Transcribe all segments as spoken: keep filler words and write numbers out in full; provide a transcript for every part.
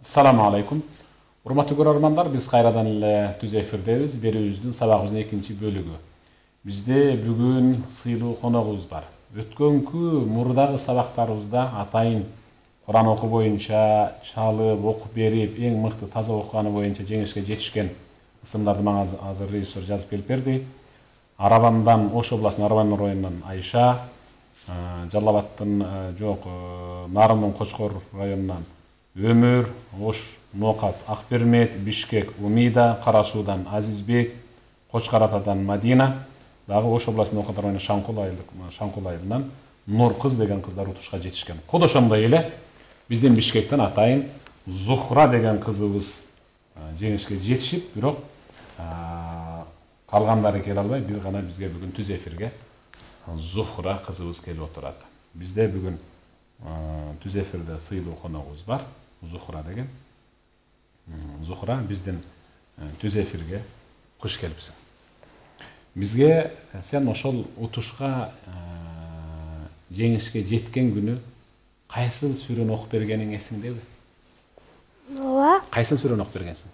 Assalamu alaikum. Урматтуу көрөрмандар, биз кайрадан эле түз эфирдебиз. Берүүбүздүн сабагыбыздын экинчи бөлүгү. Бизде бүгүн сыйлуу коногубуз бар. Өткөнкү мурдагы сабактарыбызда атайын Куран окуу боюнча чалып, окуп берип, эң мыкты таза окуганы боюнча жеңишке жетишкен ысымдарды мага азыр режиссер жазып келип берди. Арабандан, Ош областынын Арабан районунан Айша, Жалал-Абадтын жок, Нарымдын Кочкор районунан Өмүр, Ош, Ноокат, Акбермет, Бишкек, Умида, Кара-Суудан Азизбек, Кочкор Атадан Мадина, дагы Ош областынын Ноокат районунун Шаңкул айылдык Шаңкул айылынан Нур кыз деген кыздар утушка жетишкен. Кодошондой эле биздин Бишкектен атайын Зухра деген кызыбыз жеңишке жетишип, бирок калгандары келе албай, бир гана бизге бүгүн түз эфирге Зухра кызыбыз келип отурат. Бизде бүгүн түз эфирде сыйлуу коногубуз бар, Зухра деген. Зухра, биздин түз эфирге куш келипсиң. Бизге сен ошол утушка жеңишке жеткен күнү кайсыл сүрөнү окуп бергениң эсиңдеби? Ооба. Кайсыл сүрөнү окуп бергенсиң?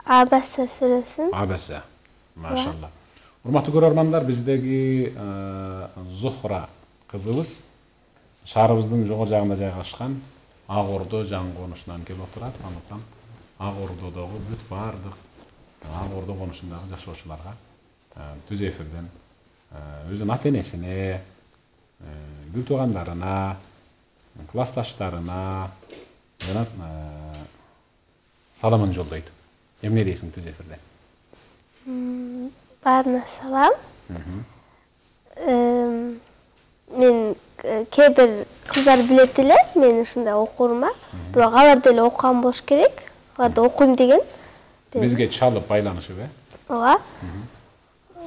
Абаса сүрөсүн. Абаса. Машалла. Урматтуу көрөрмандар, биздеги Зухра кызыбыз шаарыбыздын жогору жагында жайгашкан Ак Ордо жаңы конушунан келип отурат. Андыктан Ак Ордодогу бүт баардык Ак Ордо конушундагы жашоочуларга түз эфирден өзүнүн ата-энесине, күл туугандарына, классташтарына жана саламын жолдойт. Эмне дейсиң түз эфирде? Баарына салам. Мен кээ бир кыздар билет эле, мен ушундай окурма. Бирок алар деле окуган болуш керек. Алар да окуйм деген. Бизге чалып байланышып, э? Ооба.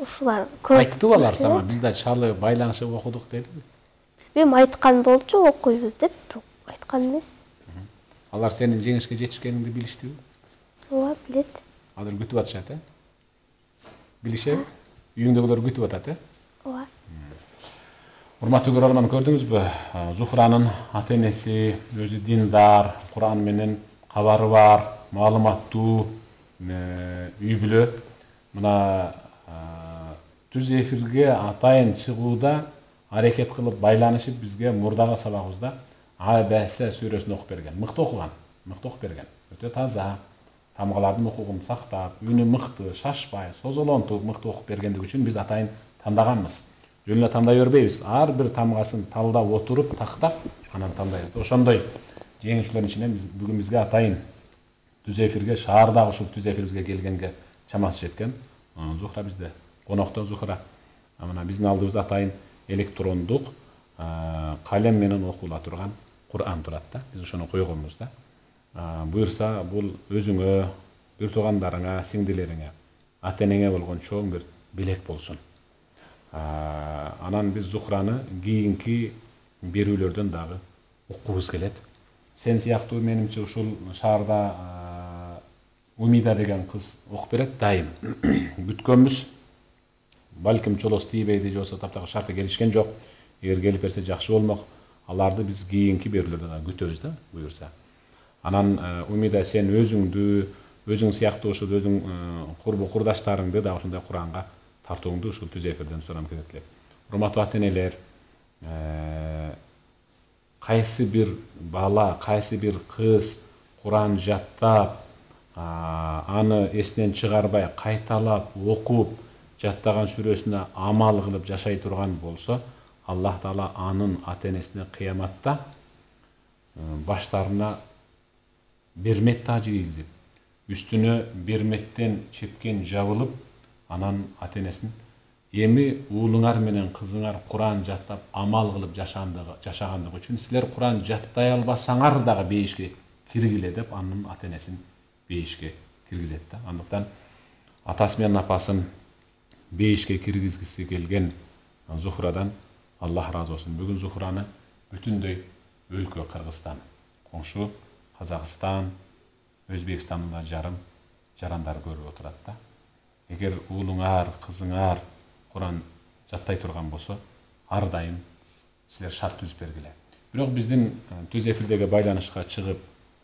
Ушулар көп. Айттыбы алар сага, биз да чалып байланышып окудук дедиби? Мен айткан болчу, окуйбуз деп, бирок айткан эмес. Алар сенин жеңишке жетишкениңди билиштиби? Ооба, билет. Азыр күтүп атышат, э? Билишеби? Үйүңдөгүлөр күтүп атат, э? Ооба. Урматтуу көрөрман, көрдүңүзбү? Зухранын ата-энеси өзү диндар, Куран менен кабары бар, маалыматтуу үй бүлө. Мына түз эфирге атайын чыгууда аракет кылып байланышып бизге мурдагы сабагыбызда Абаса сүрөсүн окуп берген. Мыкты окуган, мыкты окуп берген. Өтө таза, тамгалардын укугун сактап, үнү мыкты, шашпай, созолонтуп мыкты окуп бергендиги үчүн биз атайын тандаганбыз. Жөн эле тандай бербейбиз. Ар бир тамгасын талдап отуруп, тактап, анан тандайбыз. Ошондой жеңүүчүлөрдүн ичинен биз бүгүн бизге атайын түз эфирге, шаардагы ушул түз эфирибизге келгенге чамасы жеткен Зухра бизде конокто. Зухра, мына биздин алдыбызда атайын электрондук калем менен окула турган Куран турат да. Биз ошону койгонбуз да. Буюрса, бул өзүңө, бир туугандарыңа, сиңдилериңе, ата-энеңе болгон чоң бир белек болсун. Анан биз Зухраны кийинки берүүлөрдөн дагы уккубуз келет. Сен сыяктуу менимче ушул шаарда Умида деген кыз окуп берет дайым. Күткөнбүз. Балким чолос тийбейди, же болбосо таптагы шарты келишкен жок. Эгер келип берсе жакшы болмок. Аларды биз кийинки берүүлөрдө дагы күтөбүз да, буюрса. Анан Умида, сен өзүңдү, өзүң сыяктуу ушул өзүң курбу курдаштарыңды да ушундай Куранга тартууңду ушул түз эфирден сурам келет. Урматтуу ата-энелер, кайсы бир бала, кайсы бир кыз Куран жаттап, аны эсинен чыгарбай кайталап окуп, жаттаган сүрөсүнө амал кылып жашай турган болсо, Аллах Таала анын ата-энесине кыяматта баштарына бермет тажы кийгизип, үстүнө берметтен чепкен жабылып, анан ата-энесин эми уулуңар менен кызыңар Куран жаттап амал кылып жашагандыгы үчүн силер Куран жаттай албасаңар дагы бейишке киргиле деп анын ата-энесин бейишке киргизет да. Андыктан атасы менен апасын бейишке киргизгиси келген Зухрадан Аллах разы болсун. Бүгүн Зухраны бүтүндөй өлкө Кыргызстан, коңшу Казакстан, Өзбекстанда жарым жарандар көрүп отурат да. Эгер уулуңар, кызыңар Куран жаттай турган болсо, ар дайым силер шарт түзүп бергиле. Бирок биздин түз эфирдеги байланышка чыгып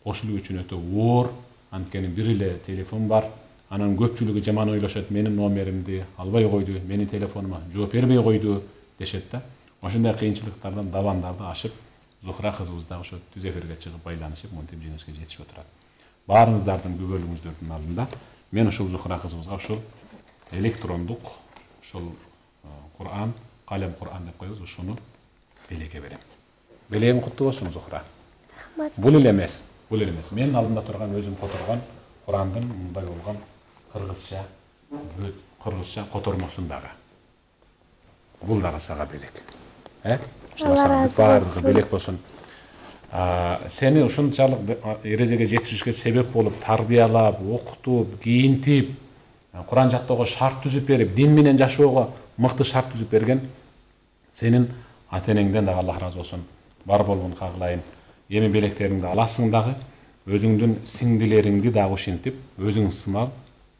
кошулуу үчүн өтө оор. Анткени бир эле телефон бар. Анан көпчүлүгү жаман ойлошот, менин номеримди албай койду, менин телефонума жооп бербей койду дешет да. Ошондой кыйынчылыктардан, давандарды ашып, Зухра кызыбыз дагы ошо түз эфирге чыгып байланышып, монтип жеңишке жетишип отурат. Баарыңыздардын күбөлүгүңүздөрдүн алдында мен ушул Зухра кызыбызга ушул электрондук ушул Кур'ан, калем Кур'ан деп коебуз, ушуну белекке берем. Белегиң куттуу болсун, Зухра. Рахмат. Бул эле эмес, бул эле эмес. Менин алдымда турган өзүм которгон Кур'андын мындай болгон кыргызча, кыргызча котормосундагы. Бул дагы сага белек. Э? Ушулар баардыгы белек болсун. Сени ушунчалык эрежеге жетишишке себеп болуп, тарбиялап, окутуп, кийинтип, Кур'ан жаттоого шарт түзүп берип, дин менен жашоого мыкты шарт түзүп берген сенин ата-энеңден дагы Аллах ыраазы болсун. Бар болгон кагылайын. Эми белектериңди аласың дагы, өзүңдүн сиңдилериңди дагы ушинтип, өзүң сымал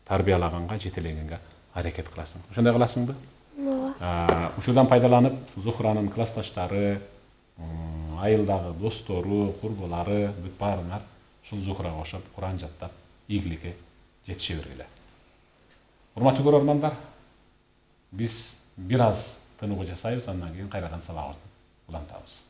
тарбиялаганга, жетелегенге аракет кыласың. Ошондой кыласыңбы? Ооба. Ушудан пайдаланып, Зухранын классташтары, айылдагы достору, курбулары, бүт баарыңар ушул Зухрага окшоп Кур'ан жаттап, ийгиликке жетише бергиле. Урматтуу көрөрмандар, биз бир аз тынугу жасайбыз, андан кийин кайрадан сабагыбызды улантабыз.